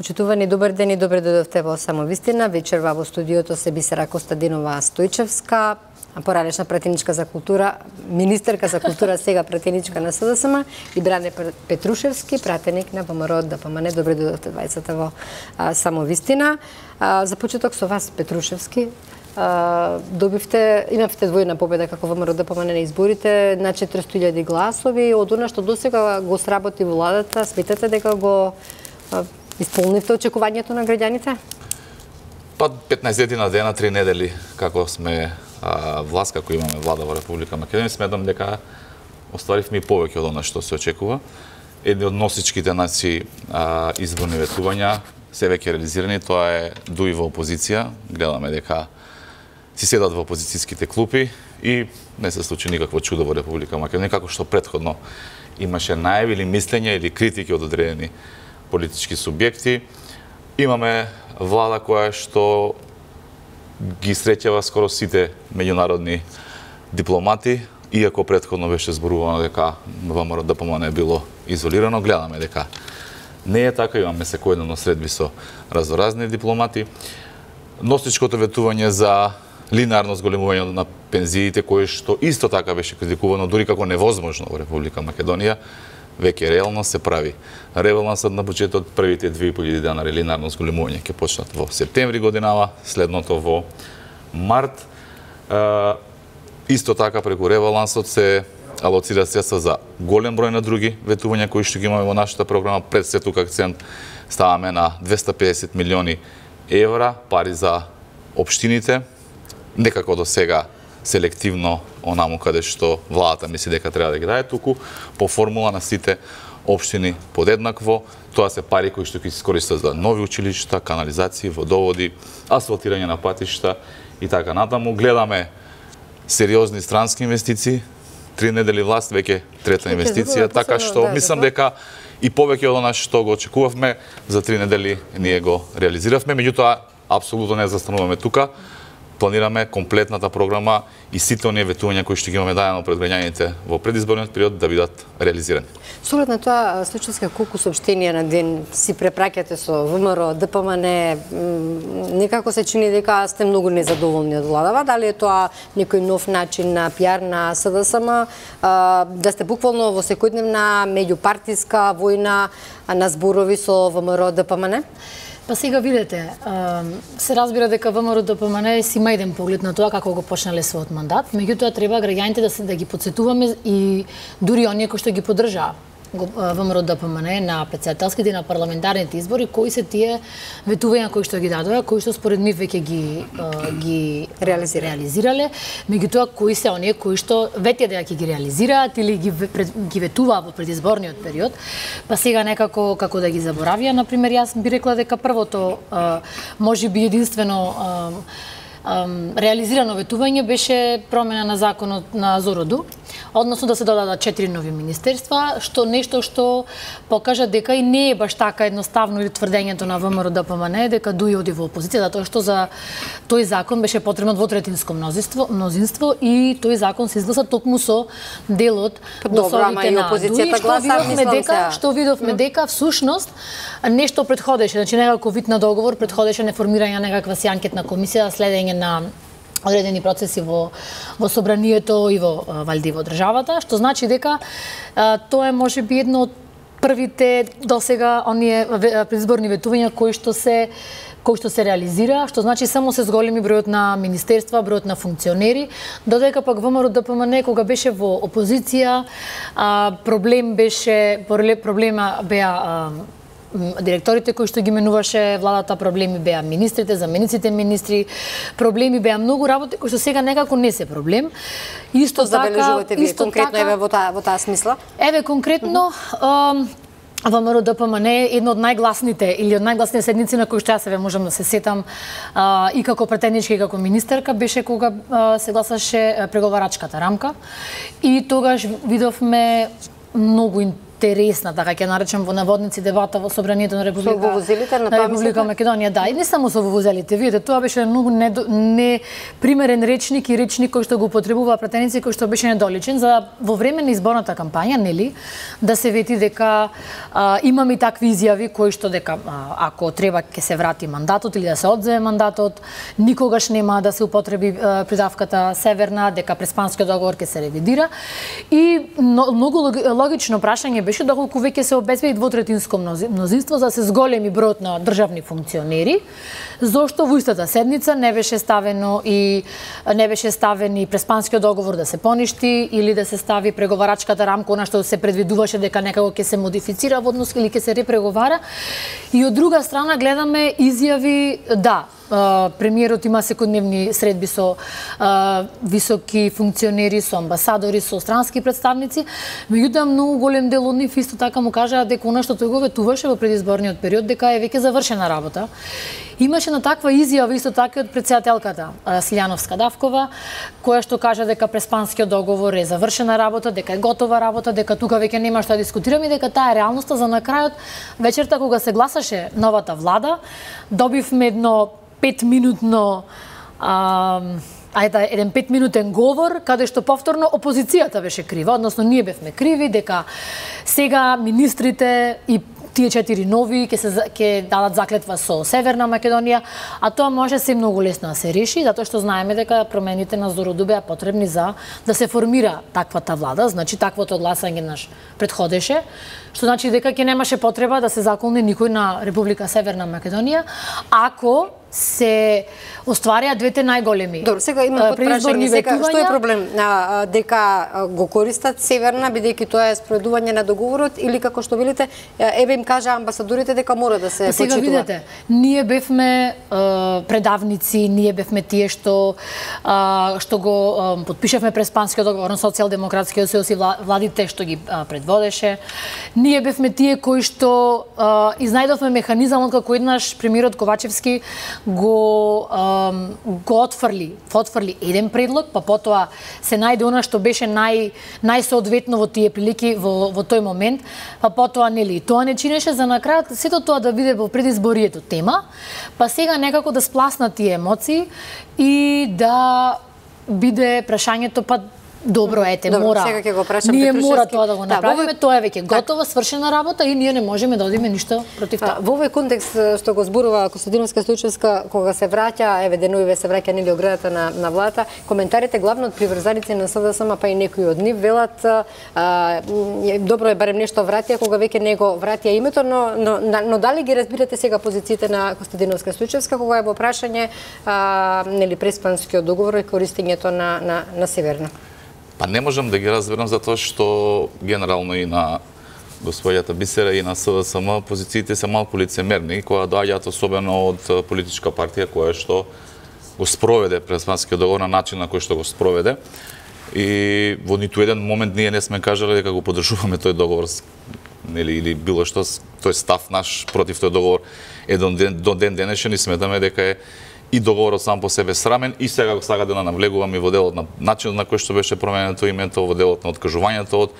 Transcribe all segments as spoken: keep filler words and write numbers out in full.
Почитувани, добар ден и добре дојдовте во Самовистина. Вечерва во студиото се Бисера Костадинова Стојчевска, поранешна пратеничка за култура, министерка за култура, сега пратеничка на СДСМ, и Бране Петрушевски, пратеник на ВМРО ДПМН. Добре дојдовте двајцата во а, Самовистина. А, за почеток со вас, Петрушевски, а, добивте, имавте двојна победа како ВМРО ДПМН на изборите, на четиристотини илјади гласови. Од она што досега го сработи владата, сметате дека го а, исполнивте очекувањето на граѓаните? Па петнаесет дена, три недели како сме а, власт, како имаме влада во Република Македонија, сметам дека остваривме и повеќе од она што се очекува. Едни од носичките наши а, изборни ветувања се веќе реализирани, тоа е дуи во опозиција. Гледаме дека си седат во опозицијските клупи и не се случи никакво чудо во Република Македонија, како што претходно имаше најави или мислења или критики од одредени политички субјекти. Имаме влада која што ги среќава скоро сите меѓународни дипломати, иако претходно беше зборувано дека ВМРО ДПМН е било изолирано. Гледаме дека не е така, имаме секојдневно средби со разноразни дипломати. Носичкото ветување за линеарно зголемување на пензиите, кое што исто така беше критикувано, дури како невозможно во Република Македонија, веќе реално се прави. Ребалансот на буџетот, првите две и по илјади денари линеарно зголемување ќе почнат во септември годинава, следното во март. Е, исто така преку ребалансот се алоцира средства за голем број на други ветувања кои што ги имаме во нашата програма. Пред се тука акцент ставаме на двесте и педесет милиони евра пари за општините, некако до сега селективно онаму каде што владата мисли дека треба да ги даде, туку по формула на сите општини подеднакво. Тоа се пари кои што ќе се искористат за нови училишта, канализации, водоводи, асфалтирање на патишта и така натаму. Гледаме сериозни странски инвестиции. Три недели власт, веќе трета инвестиција, така што мислам дека и повеќе од она што го очекувавме за три недели ние го реализиравме. Меѓутоа, апсолутно не застануваме тука. Планираме комплетната програма и сите оние ветувања кои што ги имаме дадено пред граѓаните во предизборниот период да бидат реализирани. Со оглед на тоа, Стојчевска, колку соопштенија на ден си препраќате со ВМРО ДПМН, некако се чини дека сте многу незадоволни од владава, дали е тоа некој нов начин на пиар на СДСМ, да сте буквално во секојдневна меѓупартиска војна на зборови со ВМРО ДПМН? Па сега видете, се разбира дека ВМРО ДПМН си има еден поглед на тоа како го почнале својот мандат, меѓутоа треба граѓаните да се да ги потсетуваме и дури оние кои што ги поддржаа ВМРО ДПМН на претседателските и на парламентарните избори, кои се тие ветувања кои што ги дадоа, кои што според ми веќе ги ги реализирале. реализирале, меѓутоа кои се оние кои што ветија дека ќе ги реализираат или ги ги ветуваа во предизборниот период, па сега некако како да ги заборавија. Например, јас би рекла дека првото можеби единствено реализирано ветување беше промена на законот на Зороду, односно да се додадат четири нови министерства, што нешто што покажа дека и не е баш така едноставно или тврдењето на ВМРО ДПМН дека дуи оди во опозиција, затоа што за тој закон беше потребно двотретинско мнозинство, мнозинство и тој закон се изгласа токму со делот гласовите на дуи, што видовме дека, што видовме дека всушност нешто предходеше, значи некако вид на договор предходеше на формирање на некаква си анкетна комисија, следење на одредени процеси во во собранието и во валјди во државата, што значи дека а, тоа е можеби едно од првите досега оние предизборни ветувања кои што се кои што се реализира, што значи само се зголеми бројот на министерства, бројот на функционери, додека пак ВМРО ДПМН кога беше во опозиција, а, проблем беше проблема беа а, директорите кои што ги менуваше владата, проблеми беа министрите, замениците министри, проблеми беа многу работи кои што сега некако не се проблем. Исто така, исто конкретно еве во таа во таа смисла. Еве конкретно ВМРО ДПМН е едно од најгласните или од најгласните седници на кои што јас еве можам да се сетам а, и како претеничка и како министерка беше кога а, се гласаше преговарачката рамка и тогаш видовме многу интересна, така ќе наречам во наводници дебата во собранието на Република, со вувузелите на, на Република Македонија, да, и не само со вувузелите. Видите, тоа беше многу непримерен речник и речник кој што го употребува пратеници кој што беше недоличен за во време на изборната кампања, нели, да се вети дека а, имаме и такви изјави кои што дека а, ако треба ќе се врати мандатот или да се одземе мандатот, никогаш нема да се употреби а, придавката Северна, дека Преспанскиот договор ќе се ревидира. И но, многу логично прашање беше доколку веќе се обезбеди двотретинско мнозинство за да се зголеми бројот на државни функционери, зошто во истата седница не беше ставено и не беше ставен и Преспанскиот договор да се поништи или да се стави преговарачката рамка, она што се предвидуваше дека некако ќе се модифицира во однос или ќе се репреговара. И од друга страна гледаме изјави, да, премиерот има секојдневни средби со а, високи функционери, со амбасадори, со странски представници, меѓутоа многу голем дел од нив исто така му кажаа дека она што тој го ветуваше во предизборниот период дека е веќе завршена работа. Имаше на таква изјава исто така од претседателката Силјановска Давкова, која што кажа дека Преспанскиот договор е завршена работа, дека е готова работа, дека тука веќе нема што да дискутираме и дека таа е реалноста. За на крајот вечерта кога се гласаше новата влада, добивме едно петминутно а, ајде еден петминутен говор каде што повторно опозицијата беше крива, односно ние бевме криви дека сега министрите и тие четири нови ќе се ќе дадат заклетва со Северна Македонија, а тоа може се многу лесно да се реши, затоа што знаеме дека промените на Зороду беа потребни за да се формира таквата влада, значи таквото гласање наш предходеше, што значи дека ќе немаше потреба да се заколне никој на Република Северна Македонија, ако се остварија двете најголеми. Добро, сега има подпрашање, сега што е проблем? А, дека го користат Северна бидејќи тоа е спроведување на договорот или како што велите, еве им кажа амбасадорите дека мора да се почитува. Сега видете, ние бевме а, предавници, ние бевме тие што а, што го а, потпишавме Преспанскиот договор на Социјалдемократскиот сојуз и владите што ги а, предводеше. Ние бевме тие кои што а, изнајдовме механизамот како еднаш премиерот Ковачевски го ам, го отфрли, отфрли еден предлог, па потоа се најде она што беше нај најсоодветно во тие прилики во во тој момент, па потоа нели тоа не чинеше за на крај сето тоа да биде во предизборието тема, па сега некако да спласнат тие емоции и да биде прашањето па добро, ете, Добро, мора. Сега ќе го прашам ние Петрушевски. мора тоа да го направиме, да, тоа е веќе готова, свршена работа и ние не можеме да одиме ништо против тоа. Во овој контекст што го зборува Костадиновска Стоичевска, кога се враќа, еве деновиве се враќа нели оградата на на владата, коментарите главно од приврзаници на СДСМ, па и некои од нив велат а, добро е барем нешто вратија кога веќе него вратија името, но, но но дали ги разбирате сега позициите на Костадиновска Стоичевска кога е во прашање а, нели Преспанскиот договор и користењето на на на Северна? Па не можам да ги разберам затоа што генерално и на господјата Бисера и на СДСМ позициите се малку лицемерни, која доаѓаат особено од политичка партија која што го спроведе Преспанскиот договор на начин на кој што го спроведе. И во ниту еден момент ние не сме кажале дека го поддржуваме тој договор, нели, или било што, тој став наш против тој договор е до ден, до ден денешен и сметаме дека е и договорот сам по себе срамен и сега го сага да навлегуваме во делот на начинот на кој што беше променето името, во делот на откажувањето од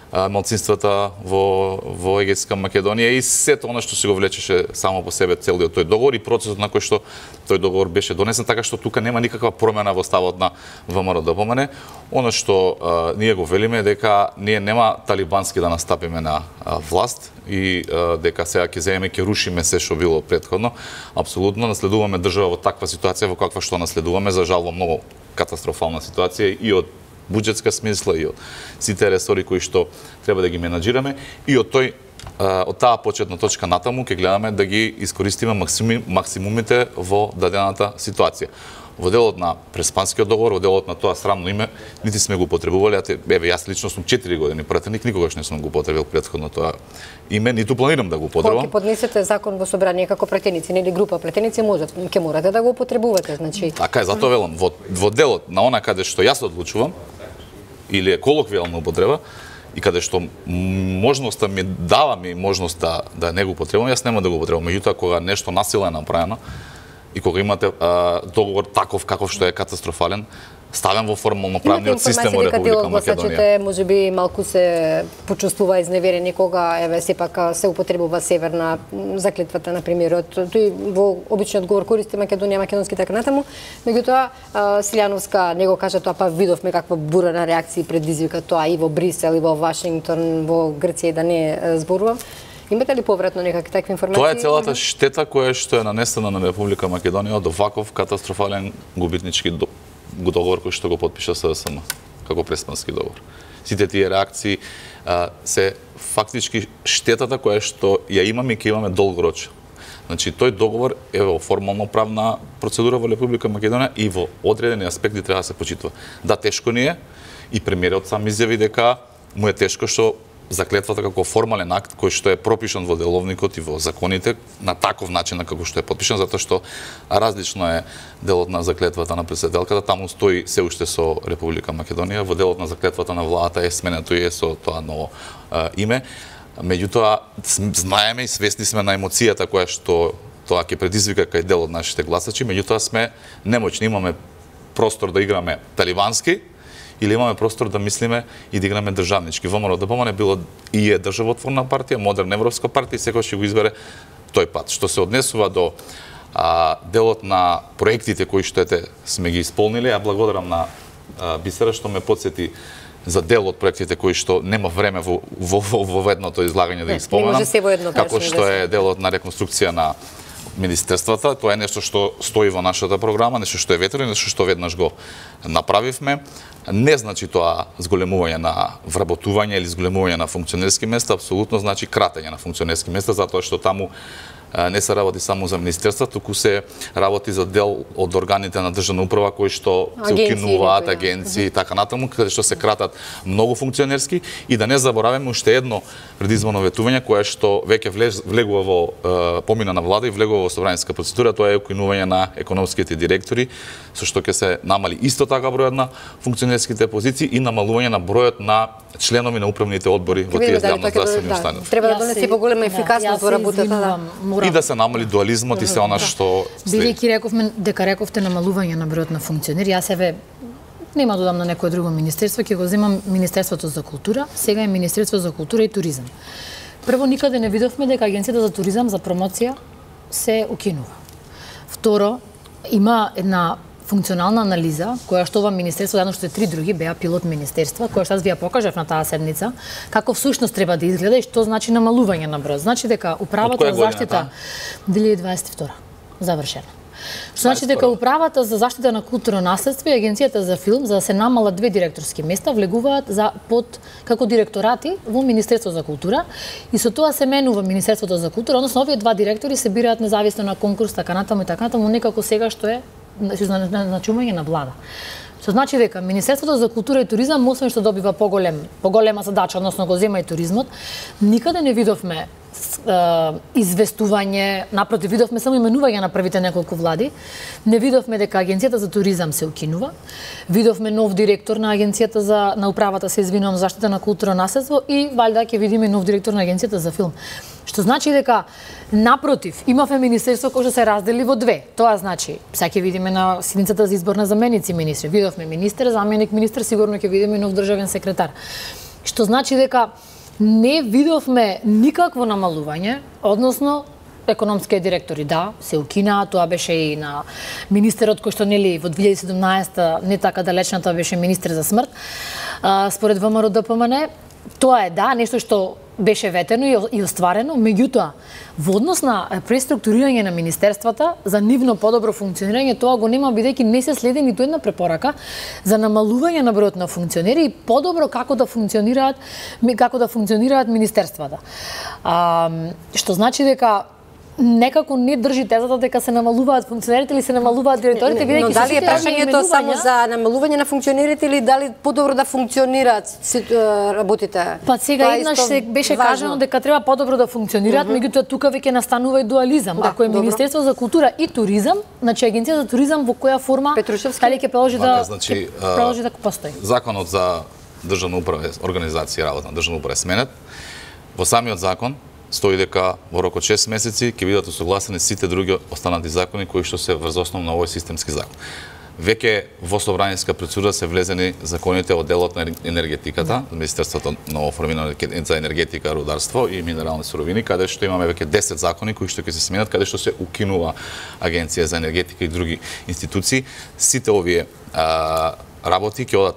малцинствата во во Егејска Македонија и сето она што се го влечеше само по себе целиот тој договор и процесот на кој што тој договор беше донесен, така што тука нема никаква промена во ставот на ВМРО-ДПМН. Она што а, ние го велиме дека ние нема талибански да настапиме на а, власт и а, дека сега ќе земеме ќе рушиме се што било претходно. Апсолутно наследуваме држава во таква ситуација во каква што наследуваме, за жал во многу катастрофална ситуација и од буџетска смисла и од сите ресори кои што треба да ги менаџираме и од тој од таа почетна точка натаму ќе гледаме да ги искористиме максимум, максимумите во дадената ситуација. Во делот на Преспанскиот договор, во делот на тоа срамно име, нити сме го потребувале, а еве јас лично сум четири години пратеник, никогаш не сум го потребил претходно тоа име, ниту планирам да го потребувам. Кога ќе поднесете закон во собрание како пратеници, нели група пратеници можат, ќе морате да го употребувате, значи. Така е, затоа велам, во во делот на она каде што јас одлучувам или е колоквијална употреба и каде што можноста ми дава ми можност да да не го употребувам, јас нема да го употребувам. Меѓутоа кога нешто насила е направено и кога имате а, договор таков каков што е катастрофален, ставен во формално правниот систем во Република Македонија. Можеби малку се почувствува изневерени кога еве сепак се употребува северна заклетвата на премиерот. Тој во обичниот говор користи Македонија, македонски така натаму. Меѓутоа Силјановска него кажа тоа, па видовме каква бура на реакции предизвика тоа и во Брисел и во Вашингтон, во Грција, да не зборувам. Имате ли повратно некакви такви информации? Тоа е целата штета која што е нанесена на Република Македонија од оваков катастрофален губитнички договор кој што го потпиша СДСМ како преспански договор. Сите тие реакции а, се фактички штетата која што ја имаме и ќе имаме долгорочно. Значи тој договор е во формално правна процедура во Република Македонија и во одредени аспекти треба да се почитува. Да, тешко ни е и премиерот сам изјави дека му е тешко што заклетвата како формален акт кој што е пропишан во деловникот и во законите на таков начин на како што е потпишан, затоа што различно е делот на заклетвата на претседателката, таму стои се уште со Република Македонија, во делот на заклетвата на владата е сменето и е со тоа ново а, име. Меѓутоа знаеме и свесни сме на емоцијата која што тоа ќе предизвика кај дел од нашите гласачи, меѓутоа сме немоćни, имаме простор да играме талибански или имаме простор да мислиме и да играме државнички. ВМРО-ДПМН било и е државотворна партија, модерна европска партија и секој ќе го избере тој пат. Што се однесува до а, делот на проектите кои што ете сме ги исполнили, ја благодарам на а, Бисера што ме подсети за дел од проектите кои што нема време во во, во, во едното излагање да ги споменам. Како што е делот на реконструкција на министерствата, тоа е нешто што стои во нашата програма, нешто што е ветрено, нешто што веднаш го направивме. Не значи тоа зголемување на вработување или зголемување на функционерски места, апсолутно значи кратење на функционерски места, затоа што таму не се работи само за министерства, туку се работи за дел од органите на државна управа кои што се укинуваат, агенции и така натаму, каде што се кратат многу функционерски. И да не забораваме уште едно предизборно ветување кое што веќе влегува во е, помина на влада и влегува во собраниска процедура, тоа е укинување на економските директори, со што ќе се намали исто така бројот на функционерските позиции и намалување на бројот на членови на управните одбори во тие здравноздравствени установи. Треба да донесе поголема ефикасност во работата. И да се намали дуализмот и се она што следи. Бидејќи рековме дека рековте намалување на бројот на функционери, јас еве нема да додам на некое друго министерство, ќе го земам Министерството за култура, сега е Министерство за култура и туризам. Прво, никаде не видовме дека Агенцијата за туризам за промоција се укинува. Второ, има една функционална анализа, која што ова министерство, заедно што три други, беа пилот министерства, која што аз ви ја покажав на таа седница, како всушност треба да изгледа и што значи намалување на број. Значи дека управата за заштита две илјади дваесет и втора завршена. Што значи дека управата за заштита на културно наследство и Агенцијата за филм, за да се намалат две директорски места, влегуваат за под како директорати во Министерство за култура и со тоа се менува Министерството за култура, односно овие два директори се бираат независно на конкурс, така натаму и така натаму, некако сега што е назначување на влада. Што значи дека Министерството за култура и туризам, освен што добива поголем, поголема задача, односно го зема и туризмот, никаде не видовме известување, напротив, видовме само именување на првите неколку влади. Не видовме дека Агенцијата за туризам се укинува. Видовме нов директор на Агенцијата за на управата, се извинувам, заштита на културно наследство и валјда ќе видиме нов директор на Агенцијата за филм. Што значи дека напротив, имавме министерство кое што се раздели во две. Тоа значи, сега ќе видиме на седницата за избор на заменици министри. Видовме министер, заменик министер, сигурно ќе видиме нов државен секретар. Што значи дека не видовме никакво намалување, односно економските директори, да, се укинаа, тоа беше и на министерот кој што нели во две илјади и седумнаесета, не така далечната, беше министер за смрт. А, според ВМРО-ДПМН, тоа е да, нешто што беше ветено и остварено, меѓутоа, во однос на преструктурирање на министерствата, за нивно подобро функционирање, тоа го нема, бидејќи не се следи ниту една препорака за намалување на бројот на функционери и подобро како да функционираат како да функционираат министерствата. А, што значи дека некако не држи тезата дека се намалуваат функционерите или се намалуваат директорите, бидејќи но дали е прашањето само за намалување на функционерите или дали подобро да функционираат работите? Па сега еднаш се беше важно кажано дека треба подобро да функционираат, uh -huh. меѓутоа тука веќе настанува и дуализам. Да, ако е добро. Министерство за култура и туризам, значи Агенција за туризам во која форма дали ќе продолжи да значи, продолжи да постои? Законот за државна управа, организација работа на државна управа е сменет. Во самиот закон стои дека во рок од шест месеци ќе бидат усогласени сите други останати закони кои што се врз основа на овој системски закон. веќе во собраниска процедура се влезени законите од делот на енергетиката, да. Министерството на оформено за енергетика, рударство и минерални суровини, каде што имаме веќе десет закони кои што ќе се сменат, каде што се укинува Агенција за енергетика и други институции. Сите овие а, работи ќе одат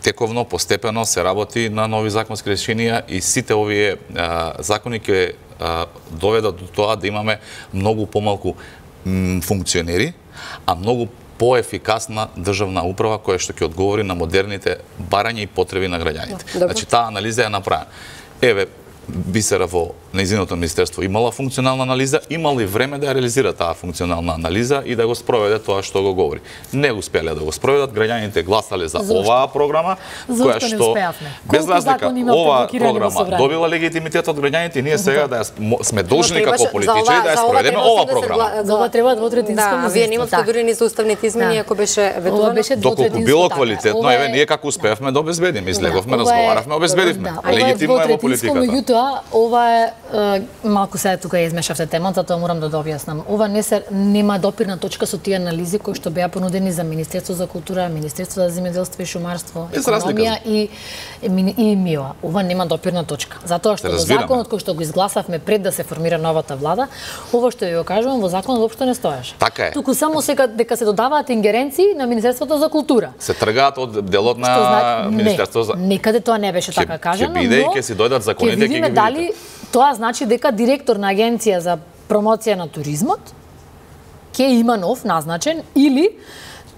тековно, постепено се работи на нови законски решенија и сите овие а, закони ќе доведат до тоа да имаме многу помалку м, функционери, а многу поефикасна државна управа која што ќе одговори на модерните барања и потреби на граѓаните. Добро. Значи таа анализа е направена. Еве Бисера во нејзиното министерство имала функционална анализа, имала и време да ја реализира таа функционална анализа и да го спроведе тоа што го говори. Не успеале да го спроведат, граѓаните гласале за Зошто? оваа програма, Зошто која што без разлика оваа програма добила легитимитет од граѓаните и ние сега да ја сме должни како политичари да ја спроведеме оваа програма. За ова треба двотретинско мнозинство. Да, вие немате дури ни за уставните измени ако беше ветувано. Ова беше доколку било квалитетно, еве ние како успеавме да обезбедиме, излеговме, разговаравме, обезбедивме. Легитимно е во политиката. Ова е, е малку сега тука ја измешавте темата, тоа морам да дообјаснам. Ова не се нема допирна точка со тие анализи кои што беа понудени за Министерство за култура, Министерство за земјоделство и шумарство, економија и и, и МИО. Ова нема допирна точка. Затоа што во законот кој што го изгласавме пред да се формира новата влада, ова што ја кажувам во законот воопшто не стоеше. Така е. Туку само сега дека се додаваат ингеренции на Министерството за култура. Се тргаат од делот на значи, Министерство за Некаде тоа не беше така кажано, но ќе биде и ќе си дојдат законите ќе ги дали тоа значи дека директор на Агенција за промоција на туризмот ќе има нов назначен или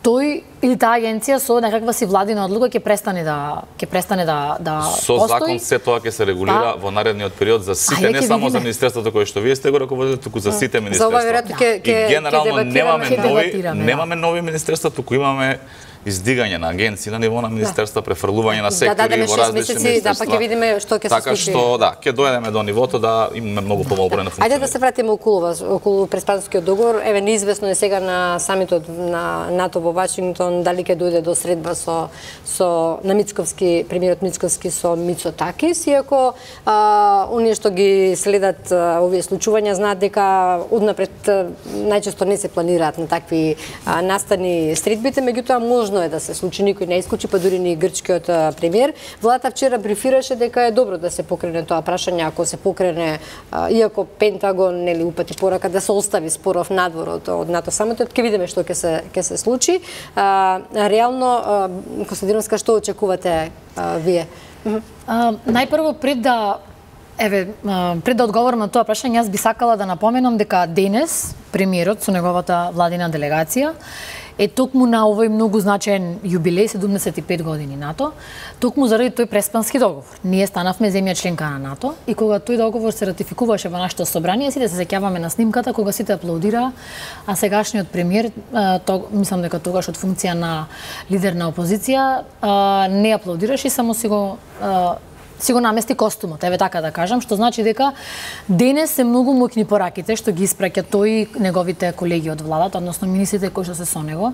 тој или таа агенција со некаква си владина одлука ќе престане да ќе престане да да со постои. закон се тоа ќе се регулира па, во наредниот период за сите, не само за министерството кое што вие сте го раководите, туку за сите министерства. За ова веројатно ќе ќе генерално немаме нови да. немаме нови министерства, туку имаме издигање на агенции на ниво на министерства, префрлување на сектори да, да, во различни министерства. Да, па ќе видиме што ќе се случи. Така што да, ќе дојдеме до нивото да имаме многу помал број на функционери. Ајде да се вратиме околу вас, околу преспанскиот договор. Еве неизвестно е сега на самитот на НАТО во Вашингтон дали ќе дојде до средба со со на Мицковски, премиерот Мицковски со Мицотакис, иако а, оние што ги следат а, овие случувања знаат дека однапред најчесто не се планираат на такви а, настани средбите, меѓутоа можно е да се случи, никој не исклучи, па дури ни грчкиот премиер. Владата вчера брифираше дека е добро да се покрене тоа прашање, ако се покрене, а, иако Пентагон нели упати порака да се остави споров надвор од, од НАТО самотот, ќе видиме што ќе се ќе се случи. А, реално, Костадиновска, што очекувате а, вие? А, најпрво пред да еве пред да одговорам на тоа прашање, јас би сакала да напоменам дека денес премиерот со неговата владина делегација е токму на овој многу значаен јубилеј, седумдесет и пет години НАТО, токму заради тој преспански договор. Ние станавме земја членка на НАТО и кога тој договор се ратификуваше во нашето собрание, сите се сеќаваме на снимката кога сите аплаудира, а сегашниот премиер, то, мислам дека тогаш од функција на лидер на опозиција, не аплаудираше и само си го си го намести костумот, еве така да кажам, што значи дека денес се многу мокни пораките што ги испраќа тој и неговите колеги од владата, односно министрите кои што се со него.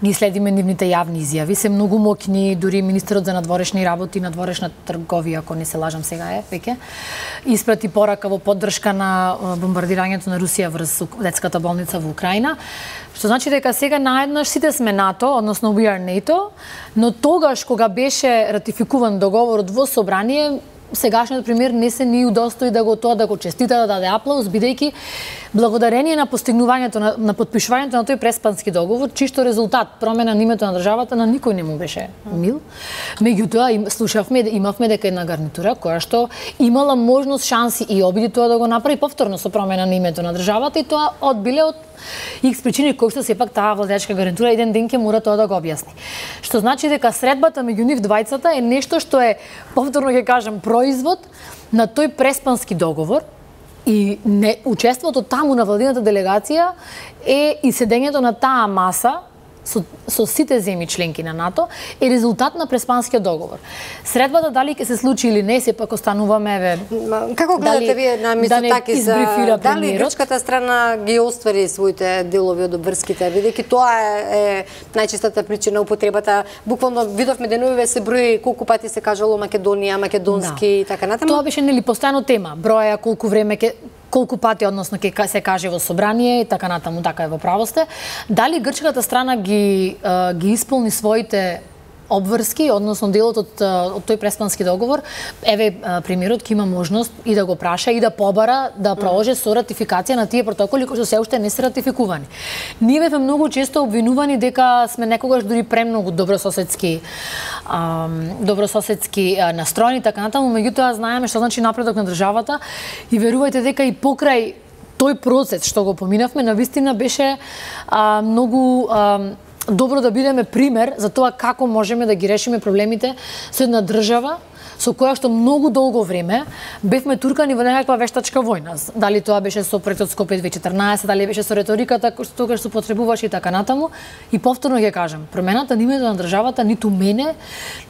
Ги следиме нивните јавни изјави, се многу мокни, дури министерот за надворешни работи, надворешна трговија, ако не се лажам сега е, веќе, испрати порака во поддршка на бомбардирањето на Русија врз детската болница во Украина. Што значи дека сега наеднаш сите сме НАТО, односно we are NATO, но тогаш кога беше ратификуван договорот во собрание, сегашниот премиер не се ни удостои да го тоа да го честита, да даде аплауз, бидејќи благодарение на постигнувањето на, на подпишувањето на тој преспански договор, чисто резултат промена на името на државата на никој не му беше мил. Меѓутоа слушавме, имавме дека една гарнитура која што имала можност, шанси и обиди тоа да го направи повторно со промена на името на државата и тоа одбиле од икс причини кои што сепак таа владеачка гарнитура еден ден ќе мора тоа да го објасни. Што значи дека средбата меѓу нив двајцата е нешто што е, повторно ќе кажам, производ на тој преспански договор и не учеството таму на владината делегација е и седењето на таа маса со, со сите земји членки на НАТО е резултат на преспанскиот договор. Средбата дали ќе се случи или не, сепак остануваме еве. Како гледате дали, вие на Мицотакис, да дали грчката страна ги оствари своите делови од обврските, бидејќи тоа е, е најчестата причина употребата. Буквално видовме деновиве се брои колку пати се кажало Македонија, македонски да. и така натаму. Тоа беше нели постојано тема, броја, колку време ќе колку пати, односно ќе се каже во собрание и така натаму, така е, во право сте. Дали грчката страна ги ги исполни своите обврски, односно делот од, од тој преспански договор? Еве, премиерот ќе има можност и да го праша и да побара да проложи со ратификација на тие протоколи кои што се уште не се ратификувани. Ние бевме многу често обвинувани дека сме некогаш дури премногу добрососедски добрососедски настроени, така натаму, меѓутоа знаеме што значи напредок на државата и верувајте дека и покрај тој процес што го поминавме, навистина беше а, многу а, добро да бидеме пример за тоа како можеме да ги решиме проблемите со една држава со која што многу долго време бевме туркани во некаква вештачка војна. Дали тоа беше со проектот Скопје две тисачи и четрнаесет, дали беше со реториката што се потребуваше и така натаму. И повторно ќе кажам, промената на името на државата ниту мене,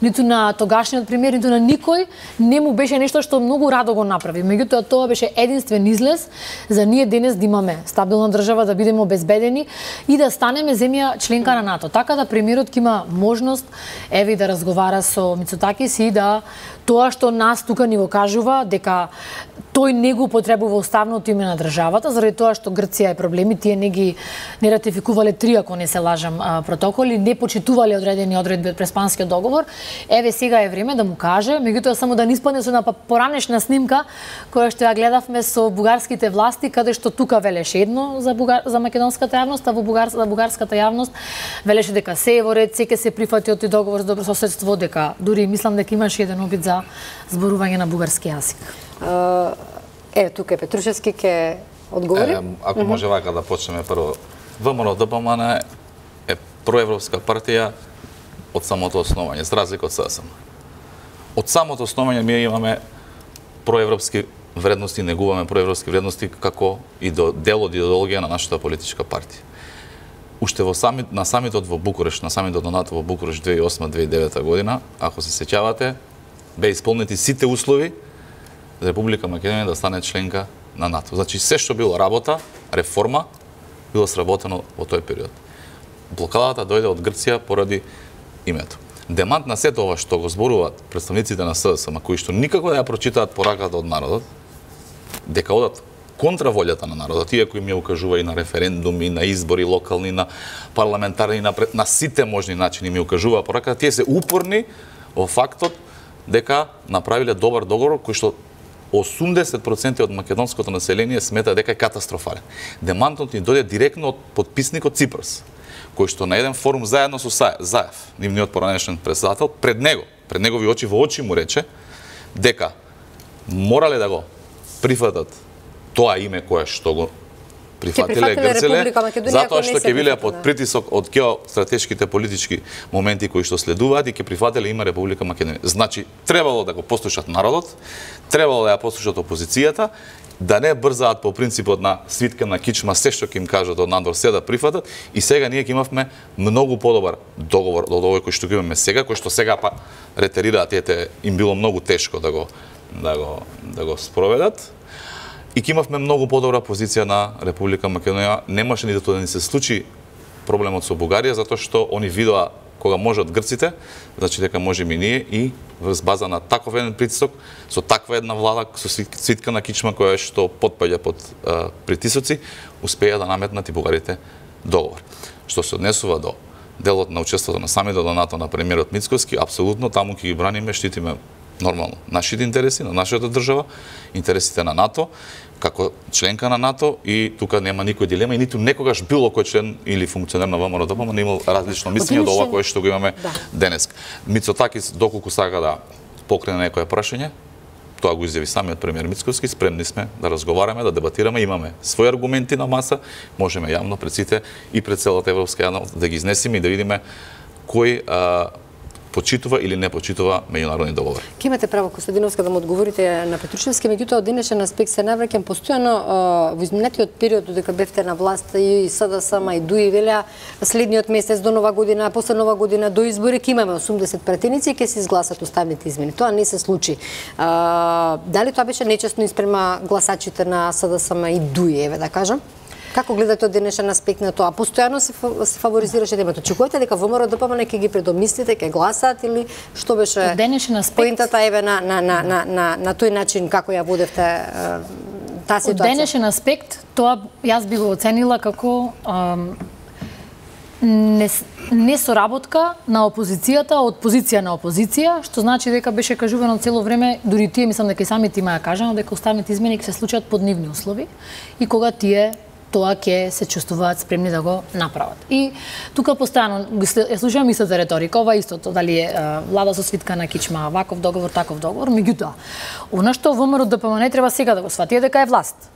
ниту на тогашниот премиер, ниту на никој не му беше нешто што многу радо го направи. Меѓутоа тоа беше единствен излез за ние денес да имаме стабилна држава, да бидеме обезбедени и да станеме земја членка на НАТО. Така да премиерот ќе има можност еве да разговара со Мицотакис и да тоа што нас тука ни го кажува дека тој не го употребува уставното име на државата, заради тоа што Грција е проблеми, тие не ги не ратификувале три, ако не се лажам, протоколи, не почитувале одредени одредби од преспанскиот договор. Еве сега е време да му каже, меѓутоа само да не испадне со една поранешна снимка која што ја гледавме со бугарските власти, каде што тука велеше едно за бугар, за македонската јавност, а во бугар, за бугарската јавност велеше дека се е во ред, се ќе се прифати од тој договор за добрососедство, дека дури мислам дека имаше еден обид за зборување на бугарски јазик. Е, тука е Петрушевски ќе одговори. Е, ако може вака да почнеме прво. ВМРО-ДПМН е проевропска партија од самото основање, за разлика од СДСМ. Од самото основање ние имаме проевропски вредности, негуваме проевропски вредности како и до дел од идеологија на нашата политичка партија. Уште во самит, на самитот во Букурешт, на самитот на НАТО во Букурешт две илјади и осма - две илјади и девета година, ако се сеќавате, бе исполнети сите услови за Република Македонија да стане членка на НАТО. Значи, се што било работа, реформа, било сработено во тој период. Блокадата дојде од Грција поради името. Демант на сето ова што го зборуваат представниците на СДСМ, кои што никако да ја прочитаат пораката од народот, дека одат контра волјата на народот, иако им ја укажува и на референдуми, на избори локални, на парламентарни, на, на сите можни начини им ја укажува пораката, тие се упорни во фактот дека направиле добар договор кој што осумдесет проценти од македонското население смета дека е катастрофален. Демантот ни дојде директно од подписникот Ципрас, кој што на еден форум заедно со Заев, нивниот поранешен председател, пред него, пред негови очи во очи му рече дека морале да го прифатат тоа име кое што го прифатиле грцеле, затоа што ќе биле под притисок од геостратешките политички моменти кои што следуваат и ќе прифатиле има Република Македонија. Значи, требало да го послушат народот, требало да ја послушат опозицијата, да не брзаат по принципот на свитка на кичма, се што ќе им кажат од надвор се да прифатат, и сега ние ќе имавме многу подобар договор од овој кој што го имаме сега, кој што сега па ретерираат, ете, им било многу тешко да го да го да го спроведат. И ќе имавме многу подобра позиција на Република Македонија. Немаше ниту да ни се случи проблемот со Бугарија, затоа што они видоа кога можат грците, значи дека можеме и ние, и врз база на таков еден притисок, со таква една влада, со свитка на кичма која што потпаѓа под а, притисоци, успеа да наметнат и бугарите договор. Што се однесува до делот на учеството на самитот на НАТО на премиерот Мицкоски, апсолутно таму ќе ги браниме, штитиме нормално нашите интереси, на нашата држава, интересите на НАТО, како членка на НАТО, и тука нема никој дилема и ниту некогаш било кој член или функционер на ВМРО-ДПМН не имал различно мислење од ова кое што го имаме да. денес. Мицотакис доколку сака да покрене некое прашање, тоа го изјави самиот премиер Мицкоски, спремни сме да разговараме, да дебатираме, имаме своји аргументи на маса, можеме јавно пред сите и пред целата европска јавност да ги изнесеме и да видиме кој а, почитува или не почитува меѓународни договори. Ке имате право, Костадиновска, да му одговорите на Петрушевски, меѓутоа од денешен аспект се навраќам постојано во изминатиот период додека бевте на власт и СДСМ и ДУИ велеа следниот месец до нова година, после нова година до избори ќе имаме осумдесет пратеници и ќе се изгласат уставните измени. Тоа не се случи. А, дали тоа беше нечестно испрема гласачите на СДСМ и ДУИ, еве да кажам? Како гледате од денешен аспект на тоа? Постојано се, се фаворизираше темата. Очекувате дека ВМРО-ДПМН ќе ги предомислите, ќе гласаат или што беше денешен аспект поинтата еве на на на на на, на тој начин како ја водевте таа од денешен аспект, тоа јас би го оценила како ам, не, не соработка на опозицијата од позиција на опозиција, што значи дека беше кажувано цело време, дури тие мислам дека и самите има ја кажано, дека уставните измени ќе се случат под нивни услови и кога тие тоа ќе се чувствуваат спремни да го направат. И тука постојано ја слушам истата реторика, ова истото, дали е влада со свитка на кичма, ваков договор, таков договор, меѓутоа, она што ВМРО Д П М Н треба сега да го свати е дека е власт.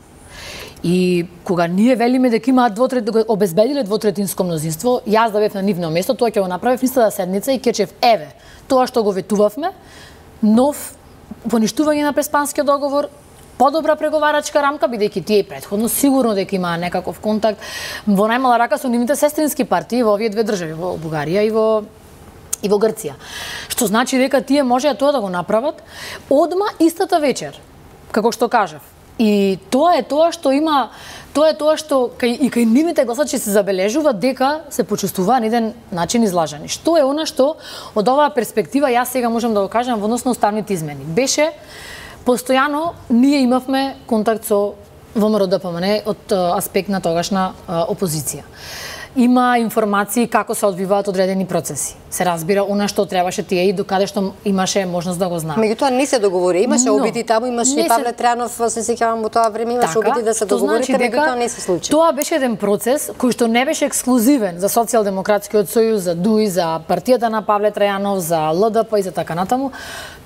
И кога ние велиме дека имаат двотрет, дека обезбедиле двотретинско мнозинство, јас да бев на нивно место, тоа ќе го направев истата седница и ќе речев, еве, тоа што го ветувавме, нов поништување на Преспанскиот договор, подобра преговарачка рамка, бидејќи тие претходно сигурно дека имаа некаков контакт во најмала рака со нивните сестрински партии во овие две држави, во Бугарија и во и во Грција. Што значи дека тие можеа тоа да го направат одма истата вечер, како што кажав. И тоа е тоа што има, тоа е тоа што кај, и кај нивните гласачи се забележува дека се почувствува на еден начин излажани. Што е она што од оваа перспектива јас сега можам да го кажам во однос на уставните измени. Беше постојано ние имавме контакт со ВМРО Д П М Н од аспект на тогашна опозиција. Има информации како се одвиваат одредени процеси. Се разбира она што требаше тие и докаде што имаше можност да го знае. Меѓутоа не се договори, имаше Но, обиди таму, имаше и Павле Трајанов, се сеќавам во тоа време, имаше така, обиди да се договорите, значи меѓутоа не се случи. Тоа беше еден процес кој што не беше ексклузивен за Социјалдемократскиот сојуз, за Д У И, за партијата на Павле Трајанов, за Л Д П и за така натаму.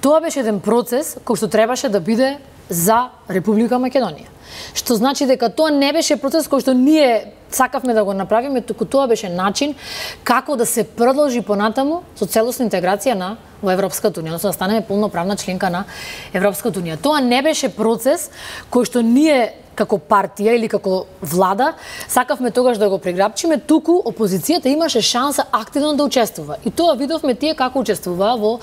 Тоа беше еден процес кој што требаше да биде за Република Македонија. Што значи дека тоа не беше процес кој што ние сакавме да го направиме, туку тоа беше начин како да се продолжи понатаму со целосна интеграција на во Европската унија, односно да станеме полноправна членка на Европската унија. Тоа не беше процес кој што ние како партија или како влада сакавме тогаш да го преграбчиме, туку опозицијата имаше шанса активно да учествува. И тоа видовме тие како учествуваа во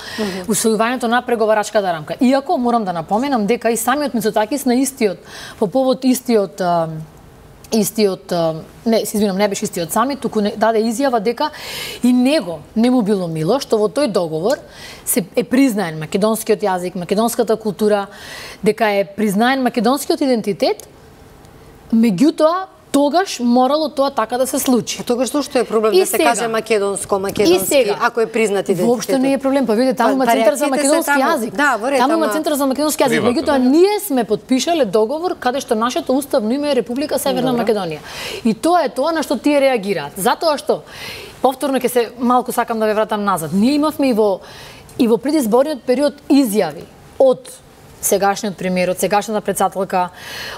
усвојувањето на преговарачката рамка. Иако морам да напоменам дека и самиот Мицотакис на истиот по повод истиот истиот, не, се извинам, не беше истиот самит, туку не, даде изјава дека и него не му било мило што во тој договор се е признаен македонскиот јазик, македонската култура, дека е признаен македонскиот идентитет, меѓутоа тогаш морало тоа така да се случи. А тогаш што е проблем и да се сега, каже македонско, македонски, сега, ако е признат идентитет? Воопшто не е проблем, па видите, таму има центар за македонски јазик. Да, во ред, таму има ама... центар за македонски јазик. Меѓутоа ние сме потпишале договор каде што нашето уставно име е Република Северна Добре. Македонија. И тоа е тоа на што тие реагираат. Затоа што повторно ќе се малку сакам да ве вратам назад. Ние имавме и во и во предизборниот период изјави од сегашниот премиер, од сегашната претседателка,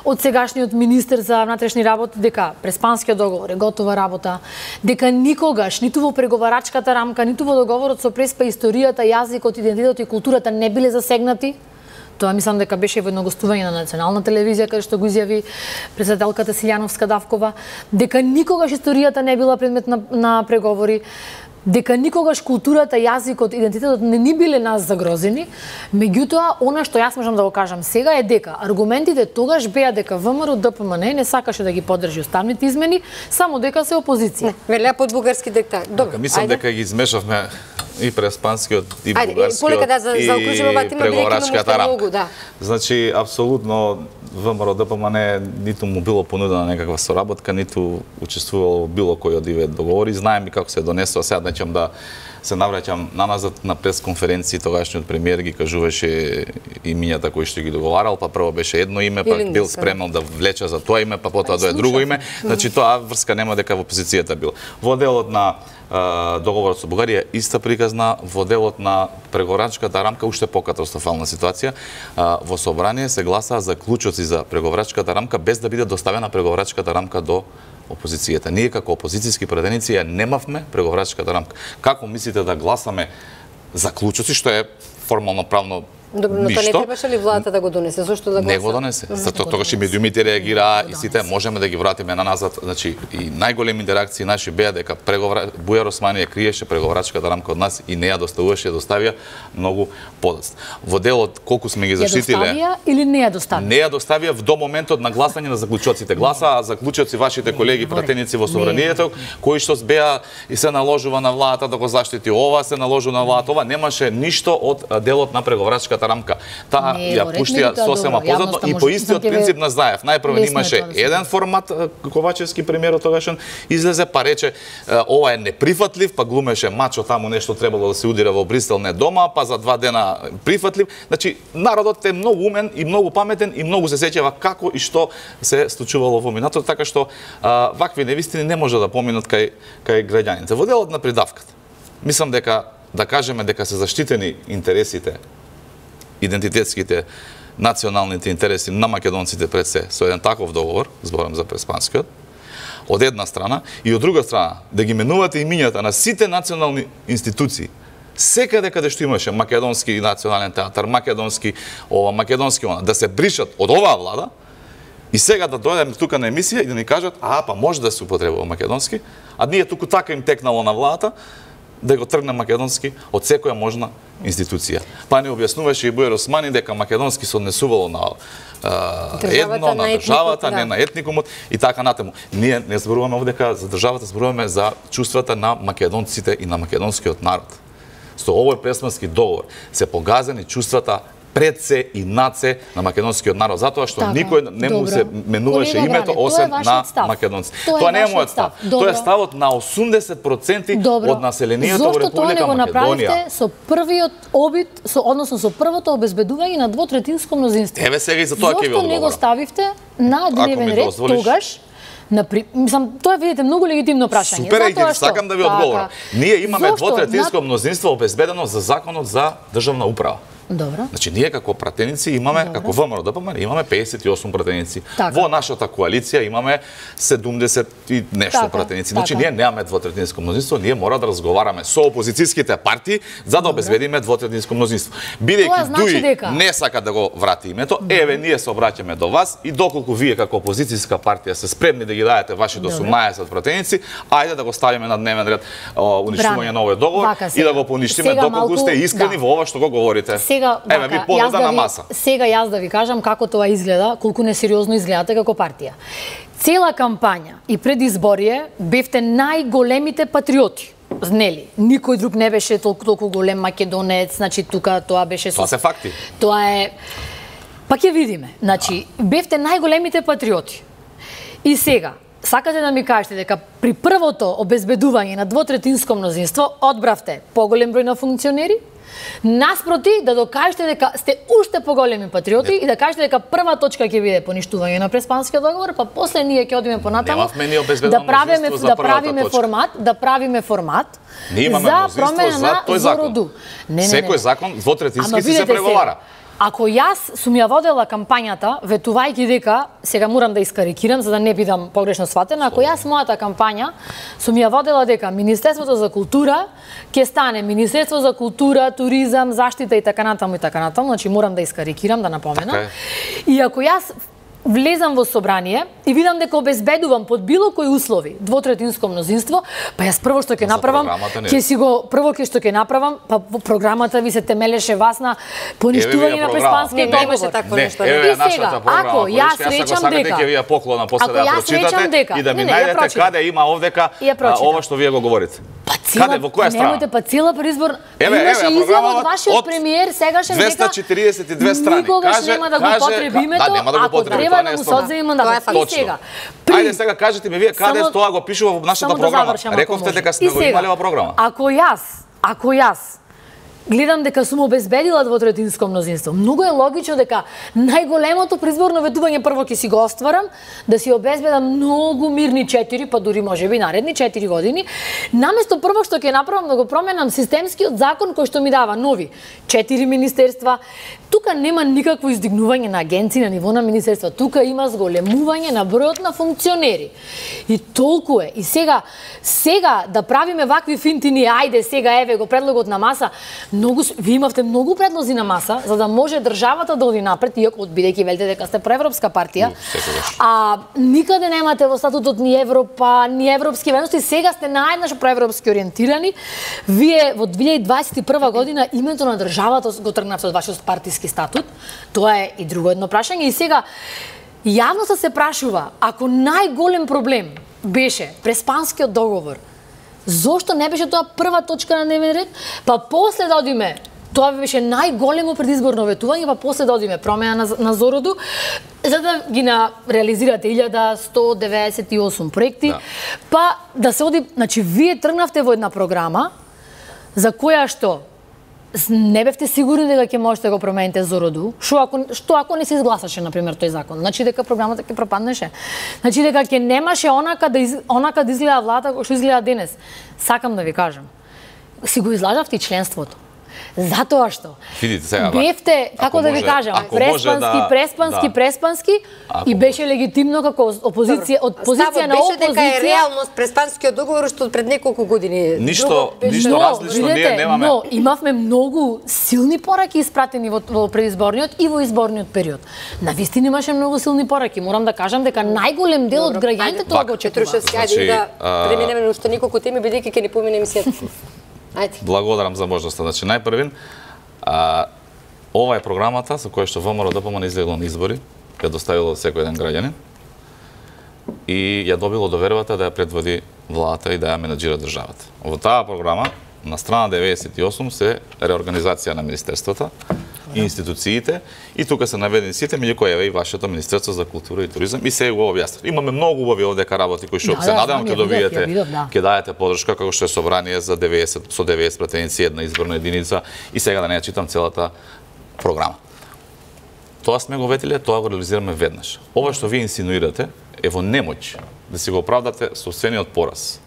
од сегашниот министер за внатрешни работи дека Преспанскиот договор е готова работа, дека никогаш ниту во преговарачката рамка, ниту во договорот со Преспа историјата, јазикот, идентитетот и културата не биле засегнати. Тоа мислам дека беше во едно гостување на национална телевизија каде што го изјави претседателката Силјановска Давкова, дека никогаш историјата не била предмет на, на преговори, дека никогаш културата, јазикот, идентитетот не ни биле нас загрозени, меѓутоа, она што јас можам да го кажам сега е дека аргументите тогаш беа дека ВМРО Д П М Н не сакаше да ги поддржи уставните измени, само дека се опозиција. Не, велеа под бугарски диктат. Добро, мислам ајде. дека ги измешавме и преспанскиот и Ајде, бугарскиот полека да за, и преговарачката рамка. Многу, да. Значи, апсолутно ВМРО Д П М Н ниту му било понудена некаква соработка, ниту учествувало во било кој од овие договори. Знаем и како се донесува. Сега нечам да се навраќам наназад на пресконференции, тогашниот премиер ги кажуваше имињата кои што ги договарал, па прво беше едно име, па бил спремнал да влече за тоа име, па потоа дое друго име. Значи тоа врска нема дека во опозицијата бил. Во делот на договорот со Бугарија иста приказна, во делот на преговарачката рамка уште покатастрофална ситуација. Во собрание се гласаа за клучоци за преговарачката рамка без да биде доставена преговарачката рамка до опозицијата. Ние како опозицијски пратеници ја немавме преговарачката рамка. Како мислите да гласаме за клучоци, што е формално правно Добро, но тоа не требаше ли владата да го донесе? Зошто да го Не го донесе. Затоа тогаш и медиумите реагираа и сите можеме да ги вратиме на назад. Значи и најголеми интеракции наши беа дека преговора Бујар Османи ја криеше преговарачката рамка од нас и не ја доставуваше, ја доставија многу подоцна. Во делот колку сме ги заштитиле. Ја доставија или не ја доставија? Не ја доставија до моментот на гласање на заклучоците. Гласаа заклучоци вашите колеги пратеници во собранието кои што беа и се наложува на владата да го заштити ова, се наложува на владата ова, немаше ништо од делот на преговарачката временската рамка. Таа Не, ја во ред, пуштија меѓутоа, сосема добро, позадно јавноста и може- по сам истиот ќе ве- принцип на Заев. Најпрво Лесно е имаше тоа да се еден формат, Ковачевски премиерот тогашен излезе па рече ова е неприфатлив, па глумеше мачо таму нешто требало да се удира во Брисел, не дома, па за два дена прифатлив. Значи народот е многу умен и многу паметен и многу се сеќава како и што се случувало во минатото, така што а, вакви невистини не може да поминат кај кај граѓаните. Во делот на придавката. Мислам дека да кажеме дека се заштитени интересите, идентитетските, националните интереси на македонците пред се со еден таков договор, зборам за Преспанскиот, од една страна, и од друга страна, да ги менувате имињата на сите национални институции, секаде каде што имаше македонски национален театар, македонски ова, македонски она, да се бришат од оваа влада, и сега да дојдеме тука на емисија и да ни кажат, а, па може да се употребува македонски, а ние туку така им текнало на владата, да го тргне македонски од секоја можна институција. Па не објаснуваше и Бујар Османи дека македонски се однесувало на а, едно, на државата, не на етникумот и така натаму. Ние не зборуваме овде дека за државата, зборуваме за чувствата на македонците и на македонскиот народ. Со овој Преспански договор се погазени чувствата пред се и над се на македонскиот народ, затоа што Така, никој не му се менуваше Колега името Бране, освен тоа е на вашиот став. македонци. Тоа е Тоа не е вашиот мојот став. став. Тоа е Добро. ставот на осумдесет проценти Добро. од населението во Зошто тоа не Република го направивте Македонија. со првиот обид, со, односно со првото обезбедување на двотретинско мнозинство? Еве сега и за тоа ќе ви Зошто не го одговорам. ставивте на дневен ми ред дозволиш. тогаш? Напри... Мислам, тоа е, видите, многу легитимно прашање. Супер, и Затоа што? сакам да ви Така. одговорам. Ние имаме Зошто? двотретинско На- мнозинство обезбедено за законот за државна управа. Добро. Значи, ние како пратеници имаме, Добро. како ВМРО ДПМН, имаме пеесет и осум пратеници. Така. Во нашата коалиција имаме седумдесет и нешто Така, пратеници. Значи, така. ние немаме двотретинско мнозинство, ние мора да разговараме со опозицијските партии за да обезбедиме двотретинско мнозинство. Тоа Бидејќи значи Дуи дека- не сака да го врати името, еве ние се обраќаме до вас и доколку вие како опозицијска партија се спремни да ги дадете вашите Добро. осумнаесет пратеници, ајде да го ставиме на дневен ред о, уништување Бране, на овој договор вака и сега. да го поништиме Сега доколку малку- сте искрени да. во ова што го говорите. Сега, Еве ви вака, понуда јас да на ви- маса. Сега јас да ви кажам како тоа изгледа, колку несериозно изгледате како партија. Цела кампања и предизборие бевте најголемите патриоти. Нели, никој друг не беше толку толку голем македонец, значи тука тоа беше со... Тоа се факти. Тоа е... Па ќе видиме. Значи, бевте најголемите патриоти. И сега, сакате да ми кажете дека при првото обезбедување на двотретинско мнозинство одбравте поголем број на функционери, наспроти да докажете дека сте уште поголеми патриоти и да кажете дека прва точка ќе биде поништување на Преспанскиот договор, па после ние ќе одиме понатаму Немавме ние обезбедено да правиме мнозинство за да првата правиме точка. формат, да правиме формат Ние имаме за мнозинство промена за на тој закон. Зороду. Не, не, не. Секој закон двотретински Ама си се видете преговара. сега, ако јас сум ја водела кампањата, ветувајќи дека, сега морам да искарикирам за да не бидам погрешно сватена, ако јас мојата кампања сум ја водела дека Министерството за култура ќе стане Министерство за култура, туризам, заштита и така натаму и така натаму, значи морам да искарикирам, да напоменам. Така е. И ако јас влезам во собрание и видам дека обезбедувам под било кои услови двотретинско мнозинство, па јас прво што ќе За направам, програмата не. ќе си го прво ќе што ќе направам, па во програмата ви се темелеше вас на поништување на програма. Преспанскиот Не, немаше договор. такво Не, нешто. еве И е нашата сега, програма. ако јас Порече, речам ако сакате, дека- ќе ви ја поклонам после Ако да ја јас речам прочитате дека- и да ми Не, не, ја најдете прочитам. каде има овдека Ја а, прочитам. ова што вие го говорите. Па цела, Каде, во која страна? Немојте, па цела предизбор... Еве, Имаше еве, изјава програмава од вашиот од премиер сегашен дека двесте четириесет и две страни. никогаш Каже- нема да го каже- потреби да, името, нема да го ако потреби, треба тоа да не е му се спорно. одземе Тоа е мандатот. факт. И сега, Ајде сега кажете ми вие каде Само- тоа го пишува во нашата само да програма. завршам, ако Рековте може. дека сме И го сега, имале во програма. Ако јас, ако јас гледам дека сум обезбедила двотретинско мнозинство, многу е логично дека најголемото предизборно ветување прво ќе си го остварам, да си обезбедам многу мирни четири, па дури можеби наредни четири години, наместо прво што ќе направам да го променам системскиот закон кој што ми дава нови четири министерства. Тука нема никакво издигнување на агенции на ниво на министерства, тука има зголемување на бројот на функционери. И толку е. И сега, сега да правиме вакви финтини, ајде сега еве го предлогот на маса, многу с- ви имавте многу предлози на маса за да може државата да оди напред, иако бидејќи велите дека сте проевропска партија. секогаш. А никаде немате во статутот ни Европа, ни европски вредности, сега сте наеднаш проевропски ориентирани. Вие во две илјади дваесет и прва година името на државата го тргнавте од вашиот партиски статут. Тоа е и друго едно прашање. И сега јавноста се прашува, ако најголем проблем беше Преспанскиот договор, зошто не беше тоа прва точка на дневен ред, па после да одиме Тоа беше најголемо предизборно ветување, па после да одиме промена на, на Зороду, за да ги на реализирате илјада сто деветдесет и осум проекти, да. Па да се оди, значи вие тргнавте во една програма за која што не бевте сигурни дека ќе можете да го промените Зороду, што ако што ако не се изгласаше на пример тој закон, значи дека програмата ќе пропаднеше. Значи дека ќе немаше онака да из, онака да изгледа влада кој што изгледа денес. Сакам да ви кажам. Си го излажавте и членството. Затоа што видите сега бевте, како да ви кажам, преспански, да, преспански, да. преспански ако и беше легитимно како опозиција, од позиција на опозиција. Ставот беше дека е реалност преспанскиот договор што пред неколку години. Ништо, ништо но, различно видите, ние немаме. Но имавме многу силни пораки испратени во, во предизборниот и во изборниот период. Навистина имаше многу силни пораки. Морам да кажам дека најголем дел од граѓаните тоа го очекува. Петрушевски, ајде да преминеме на уште неколку теми бидејќи ќе ни помине емисијата. Ајде. Благодарам за можноста. Значи, најпрвин, а, ова е програмата со која што ВМРО ДПМН излегло на избори, ја доставило секој еден граѓанин и ја добило довербата да ја предводи владата и да ја менаџира државата. Во таа програма, на страна деветдесет и осум се реорганизација на министерствата и институциите и тука се наведени сите, меѓу кои е и вашето Министерство за култура и туризам и се го објаснав. Имаме многу убави овдека работи кои што да, се да, надевам ќе добиете, да. ќе дајете подршка како што е собрание за деветдесет со деветдесет пратеници, една изборна единица и сега да не ја читам целата програма. Тоа сме го ветиле, тоа го реализираме веднаш. Ова што вие инсинуирате е во немоќ да си го оправдате собствениот пораз.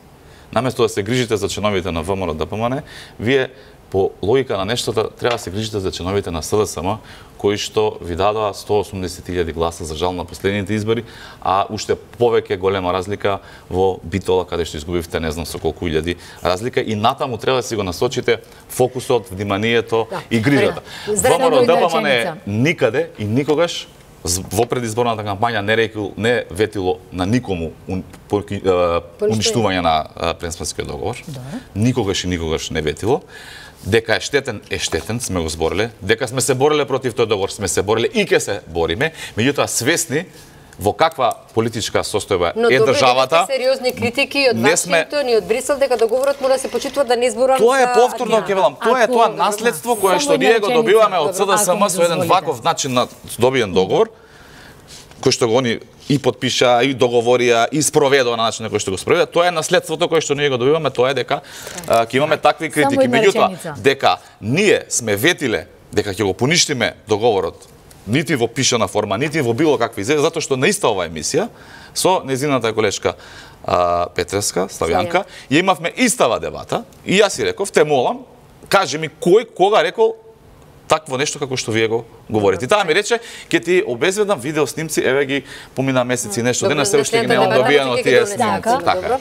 Наместо да се грижите за членовите на ВМРО ДПМН, вие по логика на нештата треба да се грижите за членовите на СДСМ кои што ви дадоа сто осумдесет илјади гласа за жал на последните избори, а уште повеќе голема разлика во Битола каде што изгубивте не знам со колку илјади разлика и натаму треба да си го насочите фокусот, вниманието да. И грижата. ВМРО ДПМН никаде и никогаш во предизборната кампања не рекол, не ветило на никому ун, по, е, уништување на преспанскиот договор. Да. Никогаш и никогаш не ветило. Дека е штетен, е штетен, сме го збориле. Дека сме се бориле против тој договор, сме се бориле и ќе се бориме. Меѓутоа свесни во каква политичка состојба но е државата. Но сериозни критики од Вашингтон и од Брисел дека договорот мора да се почитува да не изборувам. Тоа е повторно ќе велам. Тоа е тоа наследство кое што ние го добиваме од СДСМ со еден ваков начин на добиен договор, кој што го они и подпиша, и договорија, и спроведува на начин на кој што го спроведува. Тоа е наследството кое што ние го добиваме, тоа е дека ќе имаме такви критики. Меѓутоа, дека ние сме ветиле дека ќе го поништиме договорот, нити во пишана форма, нити во било какви изјави, затоа што на иста оваа емисија со незината колешка а, Петреска, Славјанка, ја имавме истава дебата и јас си реков, те молам, кажи ми кој кога рекол такво нешто како што вие го говорите. И таа ми рече, ќе ти обезведам видео снимци, еве ги помина месеци нешто дена, се уште ги немам добиено тие снимци. Така.